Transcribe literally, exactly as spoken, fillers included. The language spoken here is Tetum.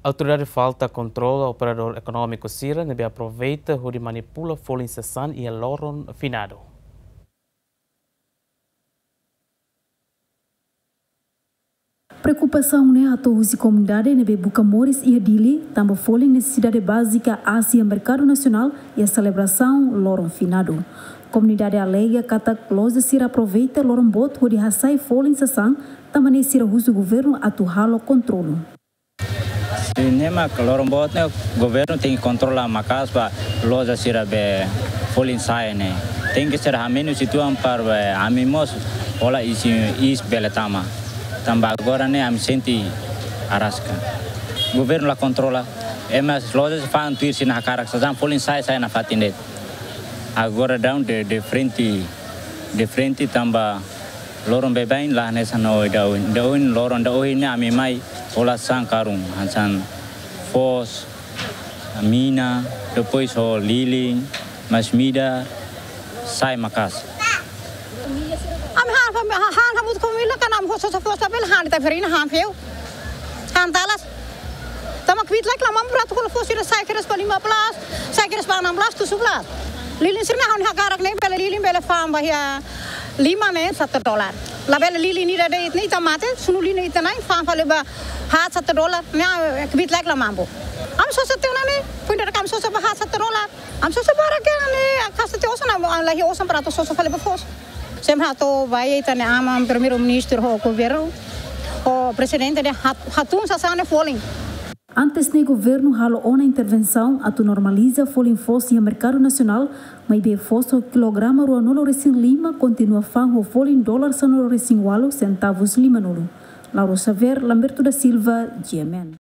Autoridade Falta kontrola operadór ekonómiku sira ne'ebé aproveita hodi manipula folin sasán iha loron finadu. Preokupasaun ne'e hato'o husi komunidade ne'ebé buka moris iha Dili, tanba folin nesesidade bázika aas iha merkadu nasionál iha selebrasaun loron finadu. Komunidade alega katak loja sira aproveita loron boot hodi hasai folin sasán, tanba ne'e sira husu governu atu halo kontrolu. Ne'e mak loron boot ne'e governu tenke kontrola maka'as ba loja sira be folin sasán ne'e. Tenke ser hamenus uitoan para be ami mós hola iis, iis bele tama. Tanba agora ne'e ami sente araska. Governu la kontrola. Ema loja sira fa'an tuir sira-nia hakarak sasán, folin sasán sai nafatin de'it. Agora daudaun de, de frente, de frente tanba loron baibain la hanesan ohin daudaun. Daudaun loron daudaun ne'e ami mai hola sasán karun, hanesan foos, mina, depois ho lilin, masin-midar, sasán maka'as. Ami han, han, han, han, hamutuk ho família, kan ami ho sosa foos labele han, ita farina han feu. Han talas. Tanba kbiit-laek la mampu atu hola foos sira sai kedas ba lima belas, sai kedas ba enam belas, tujuh belas. Lilin sira-ne'e ha'u-nia hakarak ne'e bele lilin bele fa'an ba iha lima ne'e satu dolar. Labele lilin ida de'it ne'e ita mate, sunu lilin ita-na'in fa'an fali ba haat satu dolar. Ne'e kbiit-laek la mampu. Ami sosa tiha ona ne'e, foin dadauk ami sosa ba haat satu dolar. Ami sosa barak iha ne'e, kasta tiha osan, ami la iha osan para atu sosa fali ba foos. Sempre hato'o ba iha ita-nia aman Primeiru-Ministru ho governu, ho Prezidente dehan hat-, hatún sasán ne'e folin. Antes ne'e governu halo ona intervensaun atu normaliza folin foos iha merkadu nasionál, maibé foos ho kilograma ruanulu-resin-lima kontinua fa'an ho folin dolar sanulu-resin-ualu sentavus limanulu. Laura Xavier, Lamberto da Silva, G M N.